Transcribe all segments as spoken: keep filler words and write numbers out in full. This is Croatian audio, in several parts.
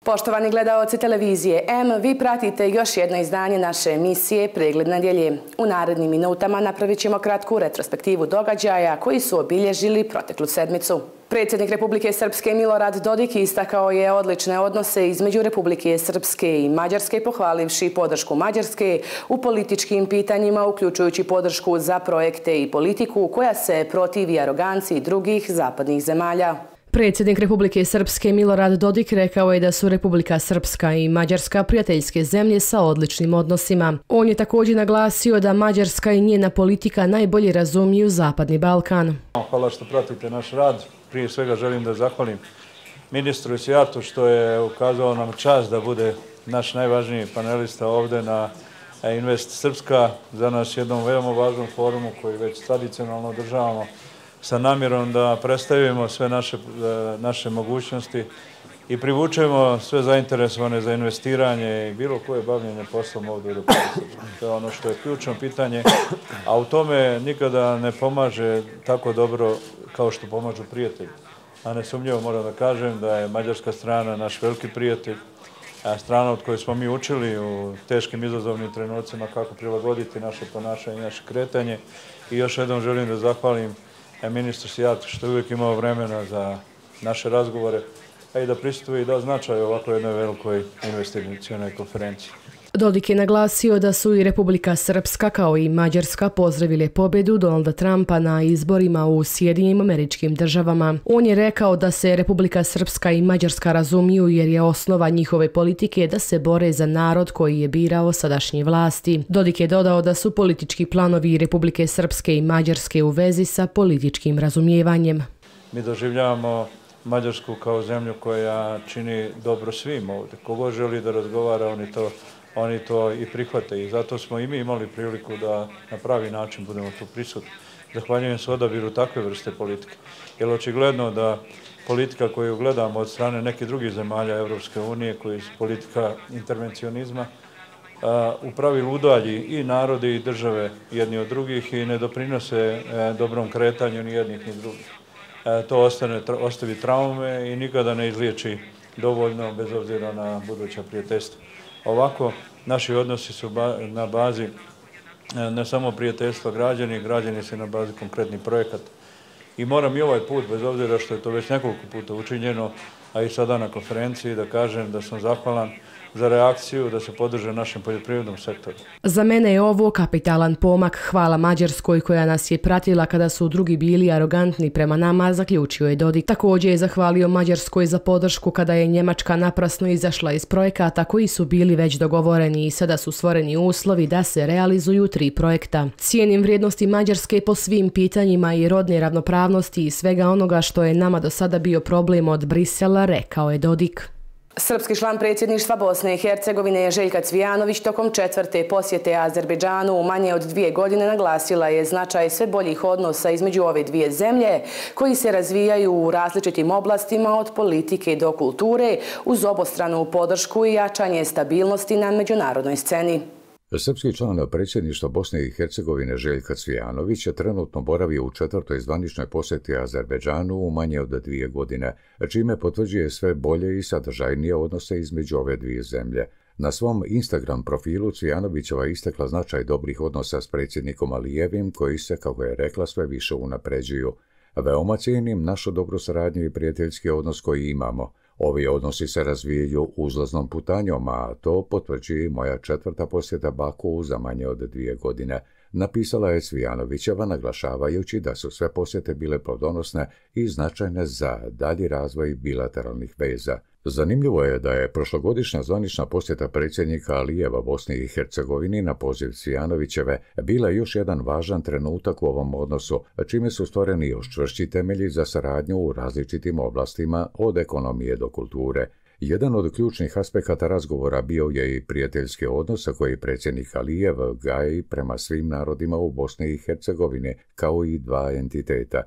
Poštovani gledaoci televizije M, vi pratite još jedno izdanje naše emisije Pregled nedjelje. U narednim minutama napravit ćemo kratku retrospektivu događaja koji su obilježili proteklu sedmicu. Predsjednik Republike Srpske Milorad Dodik istakao je odlične odnose između Republike Srpske i Mađarske, pohvalivši podršku Mađarske u političkim pitanjima, uključujući podršku za projekte i politiku koja se protivi aroganciji drugih zapadnih zemalja. Predsjednik Republike Srpske Milorad Dodik rekao je da su Republika Srpska i Mađarska prijateljske zemlje sa odličnim odnosima. On je također naglasio da Mađarska i njena politika najbolje razumiju Zapadni Balkan. Hvala što pratite naš rad. Prije svega želim da zahvalim ministru Sjatu što je ukazao nam čast da bude naš najvažniji panelista ovdje na Invest Srpska, za nas jednom veoma važnom forumu koji već tradicionalno održavamo sa namjerom da predstavimo sve naše, naše mogućnosti i privučemo sve zainteresovane za investiranje i bilo koje bavljenje poslom ovdje u Republici Srpskoj. To je ono što je ključno pitanje, a u tome nikada ne pomaže tako dobro kao što pomažu prijatelji. A nesumnjivo moram da kažem da je mađarska strana naš veliki prijatelj, a strana od koje smo mi učili u teškim izazovnim trenucima kako prilagoditi naše ponašanje i naše kretanje. I još jednom želim da zahvalim ministru Sjatu što je uvijek imao vremena za naše razgovore, a i da pristupi i da značaj ovako jednoj velikoj investicionoj konferenciji. Dodik je naglasio da su i Republika Srpska kao i Mađarska pozdravile pobjedu Donalda Trumpa na izborima u Sjedinjenim Američkim Državama. On je rekao da se Republika Srpska i Mađarska razumiju jer je osnova njihove politike da se bore za narod koji je birao sadašnje vlasti. Dodik je dodao da su politički planovi Republike Srpske i Mađarske u vezi sa političkim razumijevanjem. Mi doživljavamo Mađarsku kao zemlju koja čini dobro svim ovdje. Kogo želi da razgovara, oni to Oni to i prihvate i zato smo i mi imali priliku da na pravi način budemo tu prisutni. Zahvaljujem se odabiru takve vrste politike. Jer očigledno da politika koju gledamo od strane nekih drugih zemalja Evropske unije, koji su politika intervencionizma, u pravilu udalji i narode i države jedni od drugih i ne doprinose dobrom kretanju ni jednih ni drugih. To ostane, ostavi traume i nikada ne izliječi dovoljno bez obzira na buduća prijateljstva. Ovako, naši odnosi su na bazi ne samo prijateljstva građani, građani su na bazi konkretnih projekata. I moram i ovaj put, bez obzira što je to već nekoliko puta učinjeno, a i sada na konferenciji, da kažem da sam zahvalan za reakciju da se podrže našem poljoprivrednom sektoru. Za mene je ovo kapitalan pomak. Hvala Mađarskoj koja nas je pratila kada su drugi bili arogantni prema nama, zaključio je Dodik. Također je zahvalio Mađarskoj za podršku kada je Njemačka naprasno izašla iz projekata koji su bili već dogovoreni i sada su stvoreni uslovi da se realizuju tri projekta. Cijenim vrijednosti Mađarske po svim pitanjima i rodne ravnopravnosti i svega onoga što je nama do sada bio problem od Brisela, rekao je Dodik. Srpski član predsjedništva Bosne i Hercegovine Željka Cvijanović tokom četvrte posjete Azerbejdžanu u manje od dvije godine naglasila je značaj sve boljih odnosa između ove dvije zemlje koji se razvijaju u različitim oblastima od politike do kulture uz obostranu podršku i jačanje stabilnosti na međunarodnoj sceni. Srpski član predsjedništva Bosne i Hercegovine Željka Cvijanović trenutno boravi u četvrtoj zvaničnoj posjeti Azerbejdžanu u manje od dvije godine, čime potvrđuje sve bolje i sadržajnije odnose između ove dvije zemlje. Na svom Instagram profilu Cvijanovićeva istakla značaj dobrih odnosa s predsjednikom Alijevim, koji se, kako je rekla, sve više unapređuju. Veoma cijenim našu dobru saradnju i prijateljski odnos koji imamo. Ovi odnosi se razvijaju uzlaznom putanjom, a to potvrđuje moja četvrta posjeta Baku za manje od dvije godine, napisala je Cvijanovićeva naglašavajući da su sve posjete bile plodonosne i značajne za dalji razvoj bilateralnih veza. Zanimljivo je da je prošlogodišnja zvanična posjeta predsjednika Alijeva Bosni i Hercegovini na poziv Cvijanovićeve bila još jedan važan trenutak u ovom odnosu, čime su stvoreni još čvršći temelji za saradnju u različitim oblastima od ekonomije do kulture. Jedan od ključnih aspekata razgovora bio je i prijateljski odnos koji predsjednik Alijev gaji prema svim narodima u Bosni i Hercegovini, kao i dva entiteta.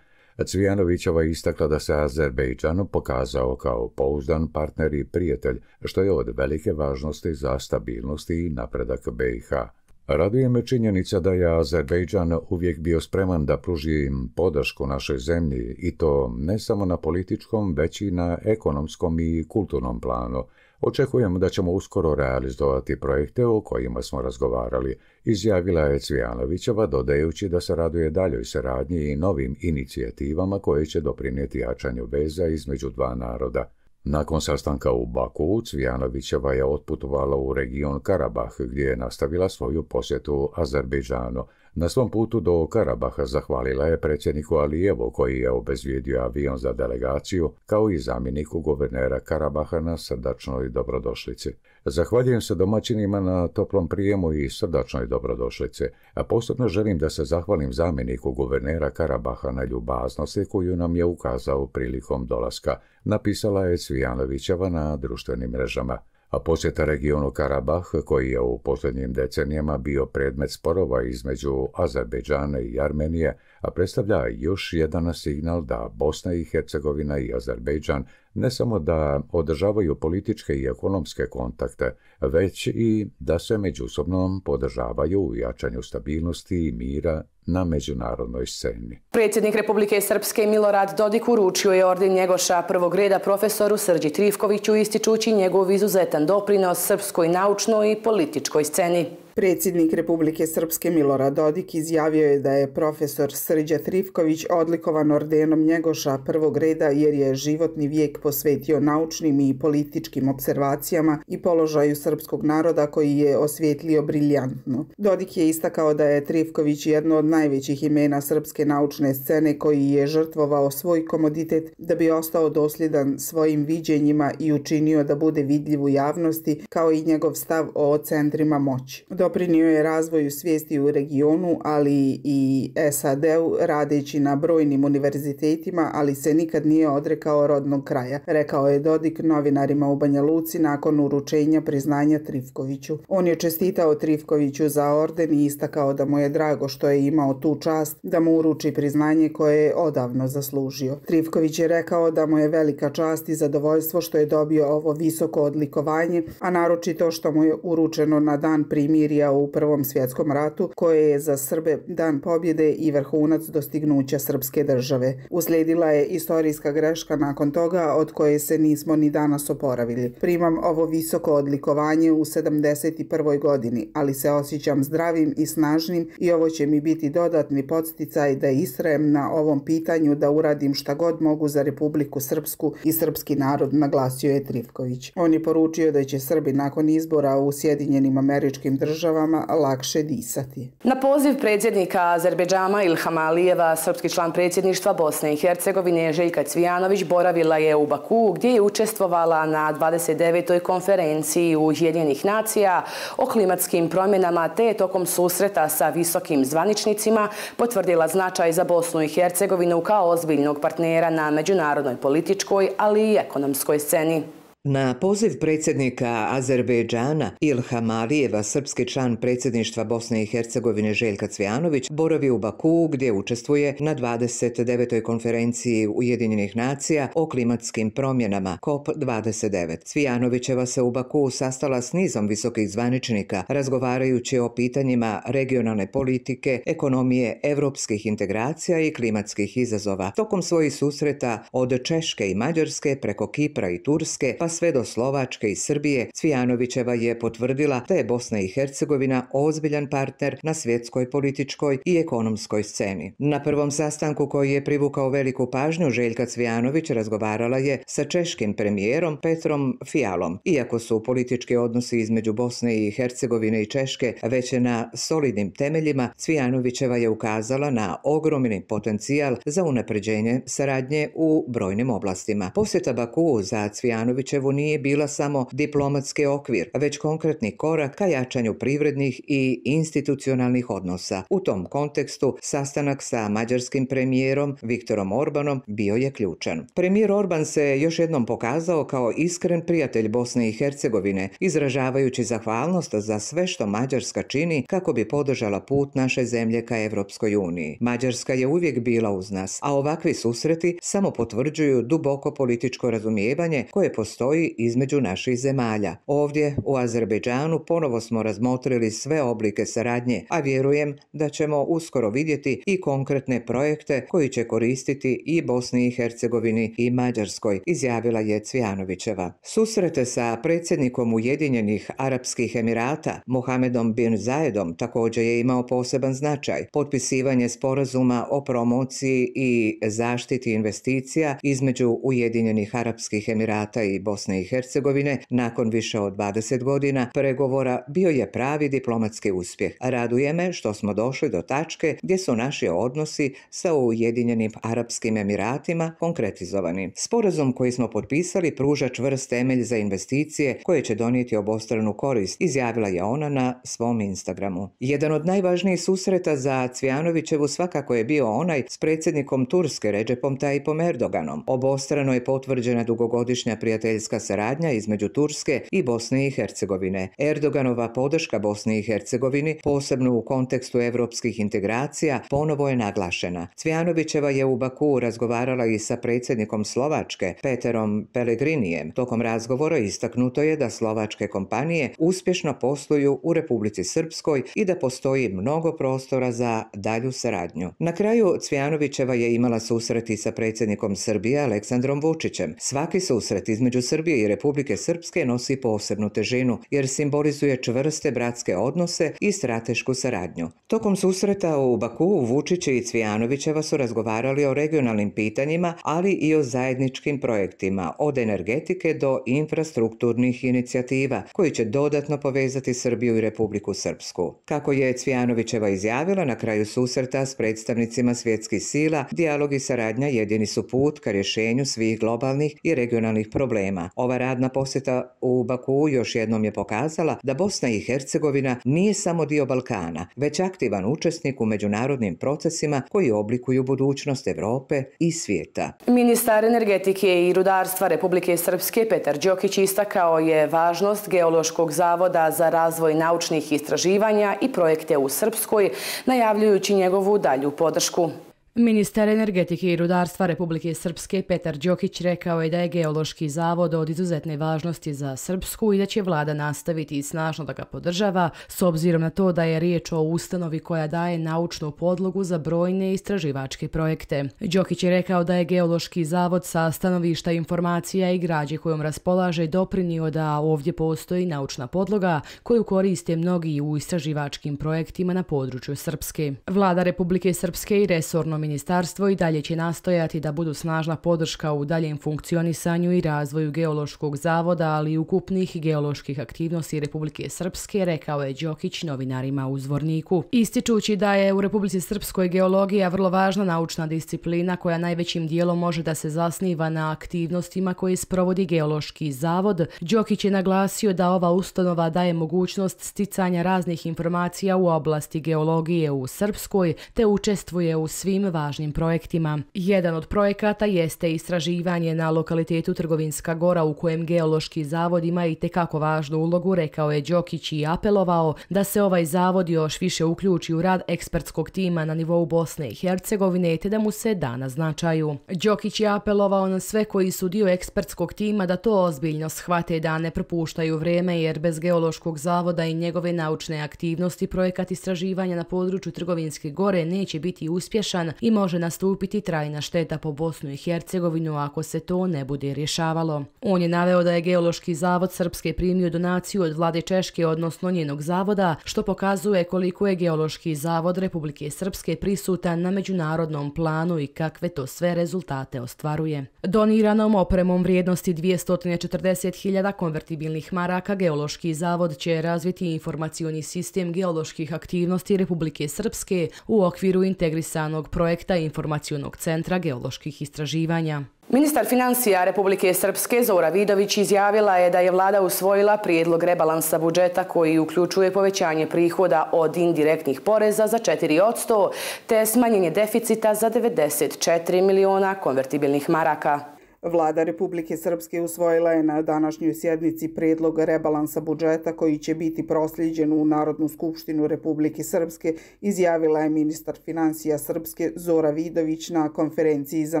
Cvijanovićeva je istakla da se Azerbejdžan pokazao kao pouzdan partner i prijatelj, što je od velike važnosti za stabilnost i napredak B i H. Raduje me činjenica da je Azerbejdžan uvijek bio spreman da pruži podršku našoj zemlji, i to ne samo na političkom, već i na ekonomskom i kulturnom planu. Očekujem da ćemo uskoro realizovati projekte o kojima smo razgovarali, izjavila je Cvijanovićeva, dodajući da se raduje daljoj saradnji i novim inicijativama koje će doprinijeti jačanju veza između dva naroda. Nakon sastanka u Baku, Cvijanovićeva je otputovala u region Karabah, gdje je nastavila svoju posjetu Azerbejdžanu. Na svom putu do Karabaha zahvalila je predsjedniku Alijevu, koji je obezbijedio avion za delegaciju, kao i zamjeniku guvernera Karabaha na srdačnoj dobrodošlici. Zahvaljujem se domaćinima na toplom prijemu i srdačnoj dobrodošlici, a posebno želim da se zahvalim zamjeniku guvernera Karabaha na ljubaznosti koju nam je ukazao prilikom dolaska, napisala je Cvijanovićeva na društvenim mrežama. A posjeta regionu Karabah, koji je u posljednjim decenijama bio predmet sporova između Azerbejdžana i Armenije, a predstavlja još jedan signal da Bosna i Hercegovina i Azerbejdžan ne samo da održavaju političke i ekonomske kontakte, već i da se međusobno podržavaju u jačanju stabilnosti i mira na međunarodnoj sceni. Predsjednik Republike Srpske Milorad Dodik uručio je orden Njegoša prvog reda profesoru Srđi Trifkoviću, ističući njegov izuzetan doprinos srpskoj naučnoj i političkoj sceni. Predsjednik Republike Srpske Milorad Dodik izjavio je da je profesor Srđa Trifković odlikovan ordenom Njegoša prvog reda jer je životni vijek posvetio naučnim i političkim observacijama i položaju srpskog naroda koji je osvijetlio briljantno. Dodik je istakao da je Trifković jedno od najvećih imena srpske naučne scene koji je žrtvovao svoj komoditet da bi ostao dosljedan svojim viđenjima i učinio da bude vidljiv u javnosti, kao i njegov stav o centrima moći. Doprinio je razvoju svijesti u regionu, ali i S A D-u, radeći na brojnim univerzitetima, ali se nikad nije odrekao rodnog kraja, rekao je Dodik novinarima u Banja Luci nakon uručenja priznanja Trifkoviću. On je čestitao Trifkoviću za orden i istakao da mu je drago što je imao tu čast da mu uruči priznanje koje je odavno zaslužio. Trifković je rekao da mu je velika čast i zadovoljstvo što je dobio ovo visoko odlikovanje, a naročito što mu je uručeno na dan primirja u Prvom svjetskom ratu, koje je za Srbe dan pobjede i vrhunac dostignuća srpske države. Uslijedila je istorijska greška nakon toga od koje se nismo ni danas oporavili. Primam ovo visoko odlikovanje u sedamdeset prvoj godini, ali se osjećam zdravim i snažnim i ovo će mi biti dodatni podsticaj da istrajem na ovom pitanju da uradim šta god mogu za Republiku Srpsku i srpski narod, naglasio je Trifković. On je poručio da će Srbi nakon izbora u Sjedinjenim Američkim Državama lakše disati. Na poziv predsjednika Azerbejdžana Ilhama Alijeva, srpski član predsjedništva Bosne i Hercegovine Željka Cvijanović boravila je u Baku, gdje je učestvovala na dvadeset devetoj konferenciji Ujedinjenih nacija o klimatskim promjenama, te je tokom susreta sa visokim zvaničnicima potvrdila značaj za Bosnu i Hercegovinu kao ozbiljnog partnera na međunarodnoj političkoj, ali i ekonomskoj sceni. Na poziv predsjednika Azerbejdžana Ilhama Alijeva, srpski član predsjedništva Bosne i Hercegovine Željka Cvijanović boravi u Baku, gdje učestvuje na dvadeset devetoj konferenciji Ujedinjenih nacija o klimatskim promjenama C O P dvadeset devet. Cvijanovićeva se u Baku sastala s nizom visokih zvaničnika, razgovarajući o pitanjima regionalne politike, ekonomije, evropskih integracija i klimatskih izazova. Tokom svojih susreta od Češke i Mađarske preko Kipra i Turske pa sve do Slovačke i Srbije, Cvijanovićeva je potvrdila da je Bosna i Hercegovina ozbiljan partner na svjetskoj političkoj i ekonomskoj sceni. Na prvom sastanku koji je privukao veliku pažnju Željka Cvijanović razgovarala je sa češkim premijerom Petrom Fialom. Iako su politički odnosi između Bosne i Hercegovine i Češke već na solidnim temeljima, Cvijanovićeva je ukazala na ogromni potencijal za unapređenje saradnje u brojnim oblastima. Posjeta Baku za Cvijanovićevu Sarajevu nije bila samo diplomatski okvir, već konkretni korak ka jačanju privrednih i institucionalnih odnosa. U tom kontekstu sastanak sa mađarskim premijerom Viktorom Orbanom bio je ključan. Premijer Orban se još jednom pokazao kao iskren prijatelj Bosne i Hercegovine, izražavajući zahvalnost za sve što Mađarska čini kako bi podržala put naše zemlje ka Evropskoj uniji. Mađarska je uvijek bila uz nas, a ovakvi susreti samo potvrđuju duboko političko razumijevanje koje postoji između naših zemalja. Ovdje u Azerbejdžanu ponovo smo razmotrili sve oblike saradnje, a vjerujem da ćemo uskoro vidjeti i konkretne projekte koji će koristiti i Bosni i Hercegovini i Mađarskoj, izjavila je Cvijanovićeva. Susrete sa predsjednikom Ujedinjenih Arapskih Emirata Mohamedom bin Zayedom također je imao poseban značaj. Potpisivanje sporazuma o promociji i zaštiti investicija između Ujedinjenih Arapskih Emirata i Bosne i Hercegovine nakon više od dvadeset godina pregovora bio je pravi diplomatski uspjeh. Raduje me što smo došli do tačke gdje su naši odnosi sa Ujedinjenim Arapskim Emiratima konkretizovani. Sporazum koji smo potpisali pruža čvrst temelj za investicije koje će donijeti obostranu korist, izjavila je ona na svom Instagramu. Jedan od najvažnijih susreta za Cvijanovićevu svakako je bio onaj s predsjednikom Turske Recepom Tayyipom Erdoganom. Obostrano je potvrđena dugogodišnja prijateljska saradnja između Turske i Bosne i Hercegovine. Erdoganova podrška Bosni i Hercegovini, posebno u kontekstu evropskih integracija, ponovo je naglašena. Cvijanovićeva je u Bakuu razgovarala i sa predsjednikom Slovačke, Peterom Pellegrinijem. Tokom razgovora istaknuto je da slovačke kompanije uspješno posluju u Republici Srpskoj i da postoji mnogo prostora za dalju saradnju. Na kraju Cvijanovićeva je imala susreti sa predsjednikom Srbije Aleksandrom Vučićem. Svaki susret između Srbije i Republike Srpske nosi posebnu težinu jer simbolizuje čvrste bratske odnose i stratešku saradnju. Tokom susreta u Bakuu Vučić i Cvijanovićeva su razgovarali o regionalnim pitanjima, ali i o zajedničkim projektima, od energetike do infrastrukturnih inicijativa koji će dodatno povezati Srbiju i Republiku Srpsku. Kako je Cvijanovićeva izjavila na kraju susreta s predstavnicima svjetskih sila, dijalog i saradnja jedini su put ka rješenju svih globalnih i regionalnih problema. Ova radna posjeta u Bakuu još jednom je pokazala da Bosna i Hercegovina nije samo dio Balkana, već aktivan učesnik u međunarodnim procesima koji oblikuju budućnost Evrope i svijeta. Ministar energetike i rudarstva Republike Srpske Petar Đokić istakao je važnost Geološkog zavoda za razvoj naučnih istraživanja i projekte u Srpskoj, najavljujući njegovu dalju podršku. Ministar energetike i rudarstva Republike Srpske Petar Đokić rekao je da je Geološki zavod od izuzetne važnosti za Srpsku i da će vlada nastaviti snažno da ga podržava, s obzirom na to da je riječ o ustanovi koja daje naučnu podlogu za brojne istraživačke projekte. Đokić je rekao da je Geološki zavod sa stanovišta informacija i građe kojom raspolaže doprinio da ovdje postoji naučna podloga koju koriste mnogi u istraživačkim projektima na području Srpske. Vlada Republike Srpske i resorno ministarstvo i dalje će nastojati da budu snažna podrška u daljem funkcionisanju i razvoju Geološkog zavoda, ali i ukupnih geoloških aktivnosti Republike Srpske, rekao je Đokić novinarima u Zvorniku. Ističući da je u Republici Srpskoj geologija vrlo važna naučna disciplina koja najvećim dijelom može da se zasniva na aktivnostima koje sprovodi Geološki zavod, Đokić je naglasio da ova ustanova daje mogućnost sticanja raznih informacija u oblasti geologije u Srpskoj te učestvuje u svim važnim projektima. Jedan od projekata jeste istraživanje na lokalitetu Trgovinska Gora u kojem Geološki zavod ima i tekako važnu ulogu, rekao je Đokić i apelovao da se ovaj zavod još više uključi u rad ekspertskog tima na nivou Bosne i Hercegovine te da mu se da na značaju. Đokić je apelovao na sve koji su dio ekspertskog tima da to ozbiljno shvate, da ne propuštaju vrijeme jer bez Geološkog zavoda i njegove naučne aktivnosti projekat istraživanja na području Trgovinske Gore neće biti uspješan i može nastupiti trajna šteta po Bosnu i Hercegovinu ako se to ne bude rješavalo. On je naveo da je Geološki zavod Srpske primio donaciju od vlade Češke, odnosno njenog zavoda, što pokazuje koliko je Geološki zavod Republike Srpske prisutan na međunarodnom planu i kakve to sve rezultate ostvaruje. Doniranom opremom vrijednosti dvjesto četrdeset hiljada konvertibilnih maraka Geološki zavod će razviti informacioni sistem geoloških aktivnosti Republike Srpske u okviru integrisanog projekta projekta Informacionog centra geoloških istraživanja. Ministar financija Republike Srpske Zora Vidović izjavila je da je vlada usvojila prijedlog rebalansa budžeta koji uključuje povećanje prihoda od indirektnih poreza za četiri posto te smanjenje deficita za devedeset četiri miliona konvertibilnih maraka. Vlada Republike Srpske usvojila je na današnjoj sjednici prijedlog rebalansa budžeta koji će biti prosljeđen u Narodnu skupštinu Republike Srpske, izjavila je ministar financija Srpske Zora Vidović na konferenciji za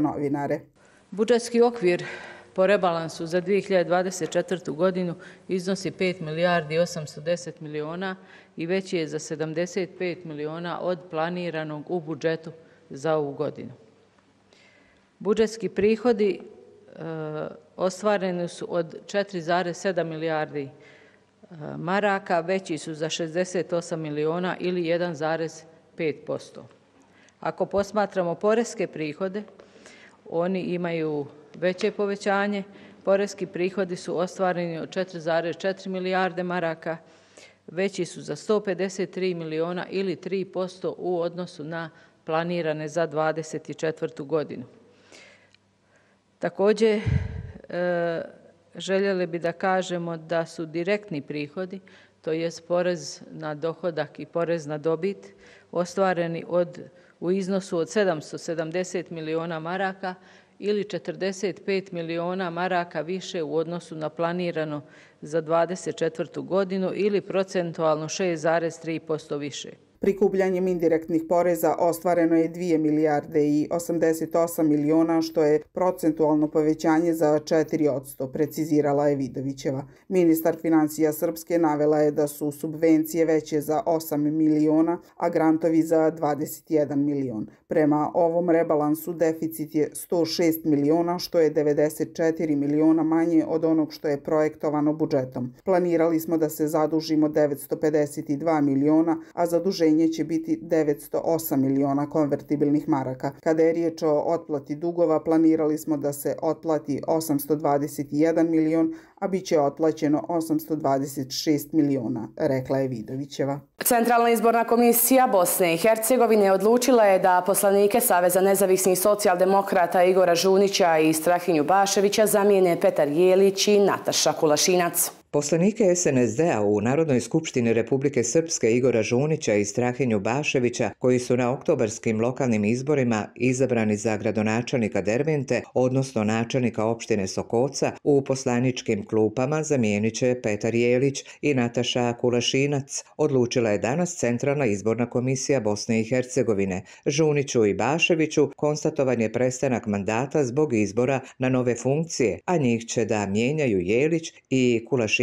novinare. Budžetski okvir po rebalansu za dvije hiljade dvadeset četvrtu. godinu iznosi pet milijardi osamsto deset miliona i veći je za sedamdeset pet miliona od planiranog u budžetu za ovu godinu. Budžetski prihodi e, ostvareni su od četiri zarez sedam milijardi e, maraka, veći su za šezdeset osam miliona ili jedan zarez pet posto. Ako posmatramo poreske prihode, oni imaju veće povećanje. Poreski prihodi su ostvareni od četiri zarez četiri milijarde maraka, veći su za sto pedeset tri miliona ili tri posto u odnosu na planirane za dvadeset četvrtu. godinu. Također, e, željeli bi da kažemo da su direktni prihodi, to jest porez na dohodak i porez na dobit, ostvareni od u iznosu od sedamsto sedamdeset miliona maraka ili četrdeset pet miliona maraka više u odnosu na planirano za dvadeset četvrtu. godinu ili procentualno šest zarez tri posto više. Prikupljanjem indirektnih poreza ostvareno je dvije milijarde i osamdeset osam miliona, što je procentualno povećanje za četiri posto, precizirala je Vidovićeva. Ministar financija Srpske navela je da su subvencije veće za osam miliona, a grantovi za dvadeset jedan milion. Prema ovom rebalansu deficit je sto šest miliona, što je devedeset četiri miliona manje od onog što je projektovano budžetom. Planirali smo da se zadužimo devetsto pedeset dva miliona, a zaduženje će biti devetsto osam miliona konvertibilnih maraka. Kada je riječ o otplati dugova, planirali smo da se otplati osamsto dvadeset jedan milion, a bit će otplaćeno osamsto dvadeset šest miliona, rekla je Vidovićeva. Centralna izborna komisija Bosne i Hercegovine odlučila je da poslanike Saveza nezavisnih socijaldemokrata Igora Žunića i Strahinju Baševića zamijene Petar Jelić i Nataša Kulašinac. Poslanike es en es de a u Narodnoj skupštini Republike Srpske Igora Žunića i Strahinju Baševića, koji su na oktobarskim lokalnim izborima izabrani za gradonačelnika Dervente, odnosno načelnika opštine Sokoca, u poslaničkim klupama zamijenit će Petar Jelić i Nataša Kulašinac, odlučila je danas Centralna izborna komisija Bosne i Hercegovine. Žuniću i Baševiću konstatovan je prestanak mandata zbog izbora na nove funkcije, a njih će da mijenjaju Jelić i Kulašinac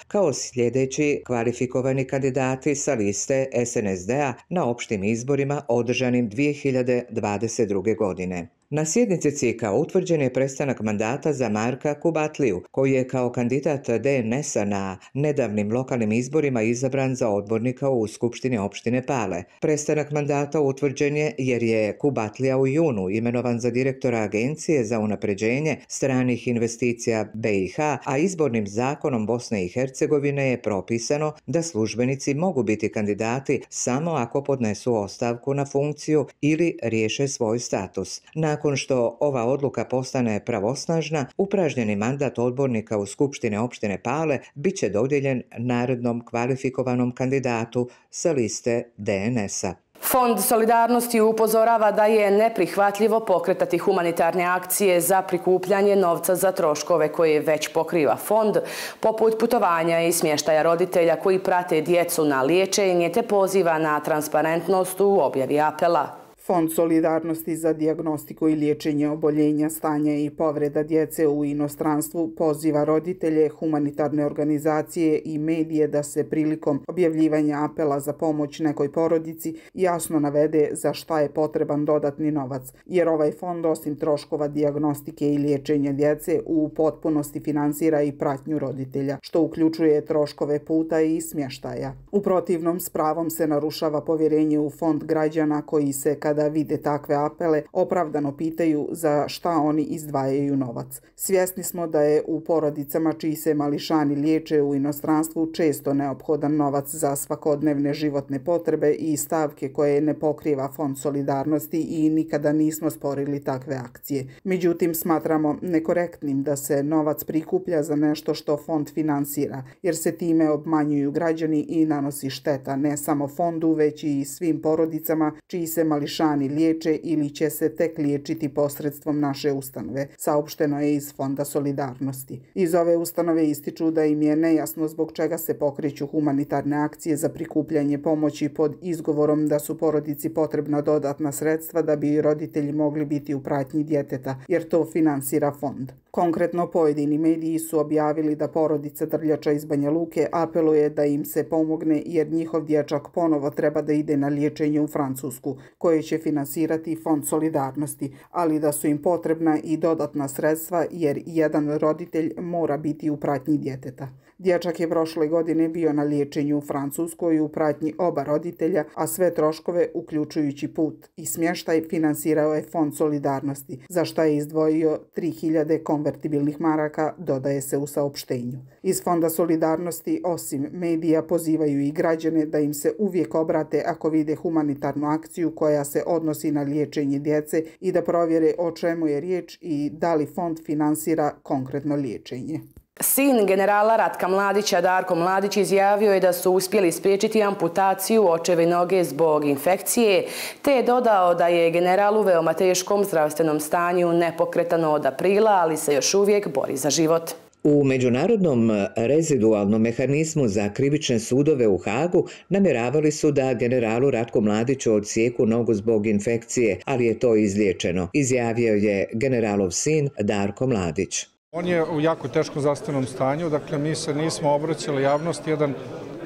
kao sljedeći kvalifikovani kandidati sa liste es en es de a na opštim izborima održanim dvije hiljade dvadeset druge. godine. Na sjednici C I K-a utvrđen je prestanak mandata za Marka Kubatliju, koji je kao kandidat de en es a na nedavnim lokalnim izborima izabran za odbornika u Skupštini opštine Pale. Prestanak mandata utvrđen je jer je Kubatlija u junu imenovan za direktora Agencije za unapređenje stranih investicija be i ha, a izbornim zakonom Bosne i Hercegovine je propisano da službenici mogu biti kandidati samo ako podnesu ostavku na funkciju ili riješe svoj status. Na Nakon što ova odluka postane pravosnažna, upražnjeni mandat odbornika u Skupštine opštine Pale bit će dodijeljen narednom kvalifikovanom kandidatu sa liste de en es a. Fond solidarnosti upozorava da je neprihvatljivo pokretati humanitarne akcije za prikupljanje novca za troškove koje već pokriva fond, poput putovanja i smještaja roditelja koji prate djecu na liječenje, te poziva na transparentnost u objavi apela. Fond solidarnosti za dijagnostiku i liječenje oboljenja, stanja i povreda djece u inostranstvu poziva roditelje, humanitarne organizacije i medije da se prilikom objavljivanja apela za pomoć nekoj porodici jasno navede za šta je potreban dodatni novac, jer ovaj fond osim troškova dijagnostike i liječenja djece u potpunosti finansira i pratnju roditelja, što uključuje troškove puta i smještaja. U protivnom, s pravom se narušava povjerenje u fond građana koji se kada kada vide takve apele, opravdano pitaju za šta oni izdvajaju novac. Svjesni smo da je u porodicama čiji se mališani liječe u inostranstvu često neophodan novac za svakodnevne životne potrebe i stavke koje ne pokriva Fond solidarnosti i nikada nismo sporili takve akcije. Međutim, smatramo nekorektnim da se novac prikuplja za nešto što fond finansira, jer se time obmanjuju građani i nanosi šteta ne samo fondu, već i svim porodicama čiji se mališani liječe ili će se tek liječiti posredstvom naše ustanove, saopšteno je iz Fonda solidarnosti. Iz ove ustanove ističu da im je nejasno zbog čega se pokreću humanitarne akcije za prikupljanje pomoći pod izgovorom da su porodici potrebna dodatna sredstva da bi roditelji mogli biti u pratnji djeteta, jer to finansira fond. Konkretno, pojedini mediji su objavili da porodica Drljača iz Banja Luke apeluje da im se pomogne jer njihov dječak ponovo treba da ide na liječenje u Francusku, koje će finansirati Fond solidarnosti, ali da su im potrebna i dodatna sredstva jer jedan roditelj mora biti u pratnji djeteta. Dječak je prošle godine bio na liječenju u Francuskoj u pratnji oba roditelja, a sve troškove, uključujući put i smještaj, finansirao je Fond solidarnosti, za što je izdvojio tri hiljade konvertibilnih maraka, dodaje se u saopštenju. Iz Fonda solidarnosti, osim medija, pozivaju i građane da im se uvijek obrate ako vide humanitarnu akciju koja se odnosi na liječenje djece i da provjere o čemu je riječ i da li fond finansira konkretno liječenje. Sin generala Ratka Mladića, Darko Mladić, izjavio je da su uspjeli spriječiti amputaciju očeve noge zbog infekcije, te je dodao da je general u veoma teškom zdravstvenom stanju, nepokretan od aprila, ali se još uvijek bori za život. U Međunarodnom rezidualnom mehanizmu za krivične sudove u Hagu namjeravali su da generalu Ratku Mladiću odsijeku nogu zbog infekcije, ali je to izliječeno, izjavio je generalov sin Darko Mladić. On je u jako teškom zdravstvenom stanju, dakle mi se nismo obraćali javnosti jedan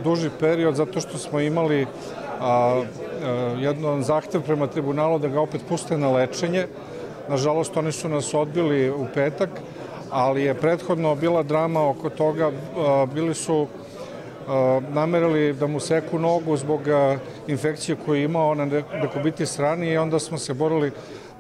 duži period zato što smo imali a, a, jedan zahtjev prema tribunalu da ga opet puste na lečenje. Nažalost, oni su nas odbili u petak, ali je prethodno bila drama oko toga, a, bili su a, namerili da mu seku nogu zbog a, infekcije koju je imao na dekubiti strani i onda smo se borili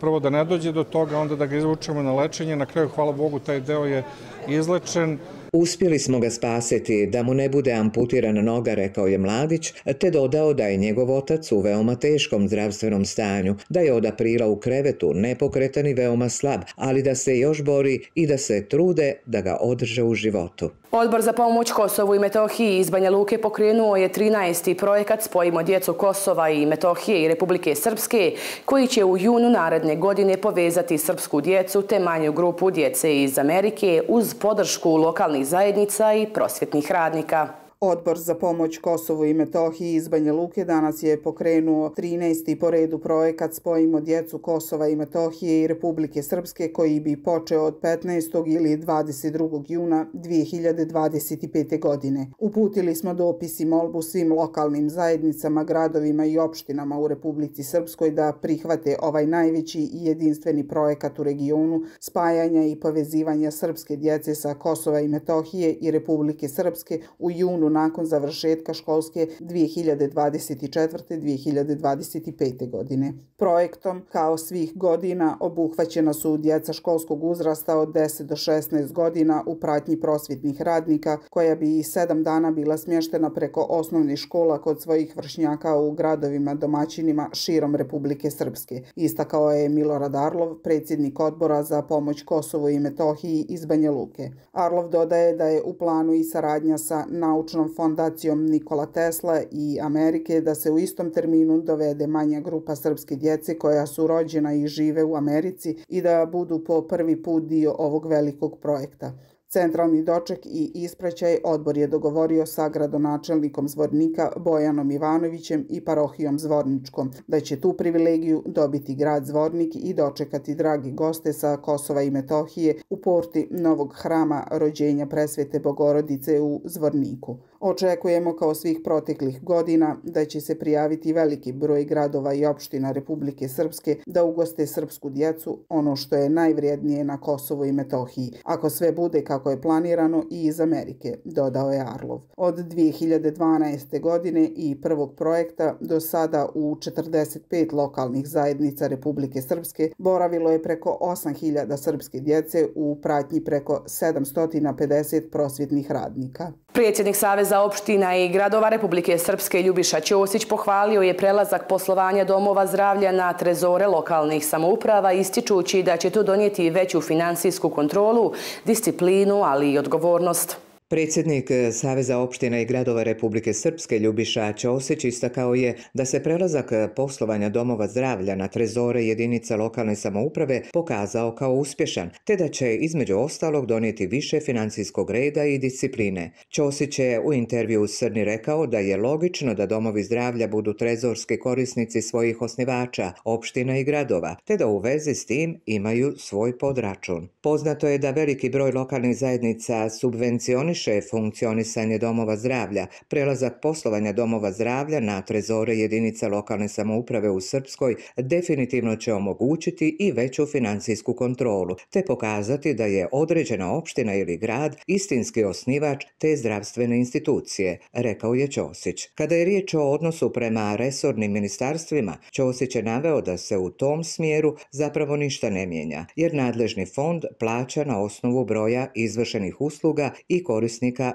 prvo da ne dođe do toga, onda da ga izvučemo na lečenje. Na kraju, hvala Bogu, taj deo je izlečen. Uspjeli smo ga spasiti da mu ne bude amputirana noga, rekao je Mladić, te dodao da je njegov otac u veoma teškom zdravstvenom stanju, da je od aprila u krevetu, nepokretan i veoma slab, ali da se još bori i da se trude da ga održe u životu. Odbor za pomoć Kosovu i Metohiji iz Banja Luke pokrenuo je trinaesti projekat Spojimo djecu Kosova i Metohije i Republike Srpske, koji će u junu naredne godine povezati srpsku djecu te manju grupu djece iz Amerike uz podršku lokalnih zajednica i prosvjetnih radnika. Odbor za pomoć Kosovu i Metohiji iz Banja Luke danas je pokrenuo trinaesti po redu projekat Spojimo djecu Kosova i Metohije i Republike Srpske, koji bi počeo od petnaestog ili dvadeset drugog juna dvije hiljade dvadeset pete. godine. Uputili smo dopis i molbu svim lokalnim zajednicama, gradovima i opštinama u Republici Srpskoj da prihvate ovaj najveći i jedinstveni projekat u regionu spajanja i povezivanja srpske djece sa Kosova i Metohije i Republike Srpske u junu nakon završetka školske dvije hiljade dvadeset četvrte. dvije hiljade dvadeset pete. godine. Projektom, kao svih godina, obuhvaćena su djeca školskog uzrasta od deset do šesnaest godina u pratnji prosvjetnih radnika, koja bi i sedam dana bila smještena preko osnovnih škola kod svojih vršnjaka u gradovima domaćinima širom Republike Srpske. Istakao je Milorad Arlov, predsjednik Odbora za pomoć Kosovu i Metohiji iz Banja Luke. Arlov dodaje da je u planu i saradnja sa naučnom fondacijom Nikola Tesla i Amerike da se u istom terminu dovede manja grupa srpske djece koja su rođena i žive u Americi i da budu po prvi put dio ovog velikog projekta. Centralni doček i ispraćaj odbor je dogovorio sa gradonačelnikom Zvornika Bojanom Ivanovićem i parohijom Zvorničkom, da će tu privilegiju dobiti grad Zvornik i dočekati dragi goste sa Kosova i Metohije u porti novog hrama rođenja Presvete Bogorodice u Zvorniku. Očekujemo, kao svih proteklih godina, da će se prijaviti veliki broj gradova i opština Republike Srpske da ugoste srpsku djecu, ono što je najvrijednije na Kosovu i Metohiji. Ako sve bude kako kako je planirano i iz Amerike, dodao je Arlov. Od dvije hiljade dvanaeste. godine i prvog projekta do sada u četrdeset pet lokalnih zajednica Republike Srpske boravilo je preko osam hiljada srpske djece u pratnji preko sedamsto pedeset prosvjetnih radnika. Predsjednik Saveza opština i gradova Republike Srpske Ljubiša Ćosić pohvalio je prelazak poslovanja domova zdravlja na trezore lokalnih samouprava, ističući da će to donijeti veću finansijsku kontrolu, disciplinu, ali i odgovornost. Predsjednik Saveza opština i gradova Republike Srpske Ljubiša Ćosić istakao je da se prelazak poslovanja domova zdravlja na trezore jedinica lokalne samouprave pokazao kao uspješan, te da će između ostalog donijeti više financijskog reda i discipline. Ćosić je u intervju u Srni rekao da je logično da domovi zdravlja budu trezorski korisnici svojih osnivača, opština i gradova, te da u vezi s tim imaju svoj podračun. Poznato je da veliki broj lokalnih zajednica subvencioniše funkcionisanje domova zdravlja. Prelazak poslovanja domova zdravlja na trezore jedinica lokalne samouprave u Srpskoj definitivno će omogućiti i veću financijsku kontrolu, te pokazati da je određena opština ili grad istinski osnivač te zdravstvene institucije, rekao je Ćosić. Kada je riječ o odnosu prema resornim ministarstvima, Ćosić je naveo da se u tom smjeru zapravo ništa ne mijenja, jer nadležni fond plaća na osnovu broja izvršenih usluga i korisnika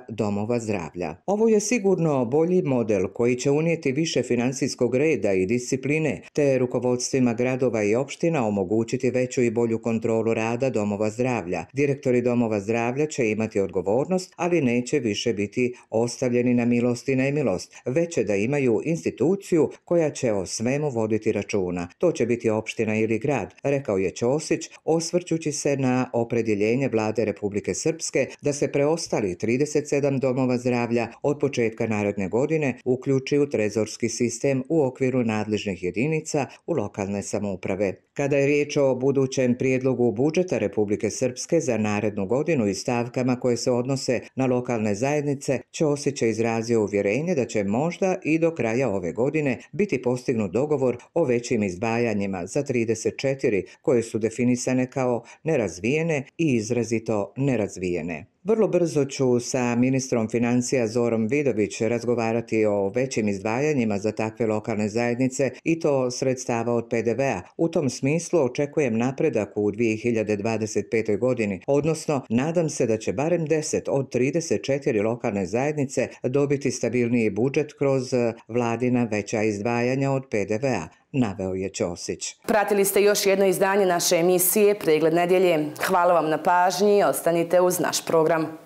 domova zdravlja. Ovo je sigurno bolji model koji će unijeti više financijskog reda i discipline, te rukovodstvima gradova i opština omogućiti veću i bolju kontrolu rada domova zdravlja. Direktori domova zdravlja će imati odgovornost, ali neće više biti ostavljeni na milost i nemilost, već će da imaju instituciju koja će o svemu voditi računa. To će biti opština ili grad, rekao je Ćosić, osvrćući se na opredjeljenje Vlade Republike Srpske da se preostali trideset sedam domova zdravlja od početka naredne godine uključi u trezorski sistem u okviru nadležnih jedinica u lokalne samouprave. Kada je riječ o budućem prijedlogu budžeta Republike Srpske za narednu godinu i stavkama koje se odnose na lokalne zajednice, Ćosić je izrazio uvjerenje da će možda i do kraja ove godine biti postignut dogovor o većim izdvajanjima za trideset četiri koje su definisane kao nerazvijene i izrazito nerazvijene. Vrlo brzo ću sa ministrom financija Zorom Vidović razgovarati o većim izdvajanjima za takve lokalne zajednice i to sredstava od pe de ve a. U tom smislu očekujem napredak u dvije hiljade dvadeset petoj. godini, odnosno nadam se da će barem deset od trideset četiri lokalne zajednice dobiti stabilniji budžet kroz vladina veća izdvajanja od pe de ve a. Naveo je Ćosić. Pratili ste još jedno izdanje naše emisije Pregled nedjelje. Hvala vam na pažnji i ostanite uz naš program.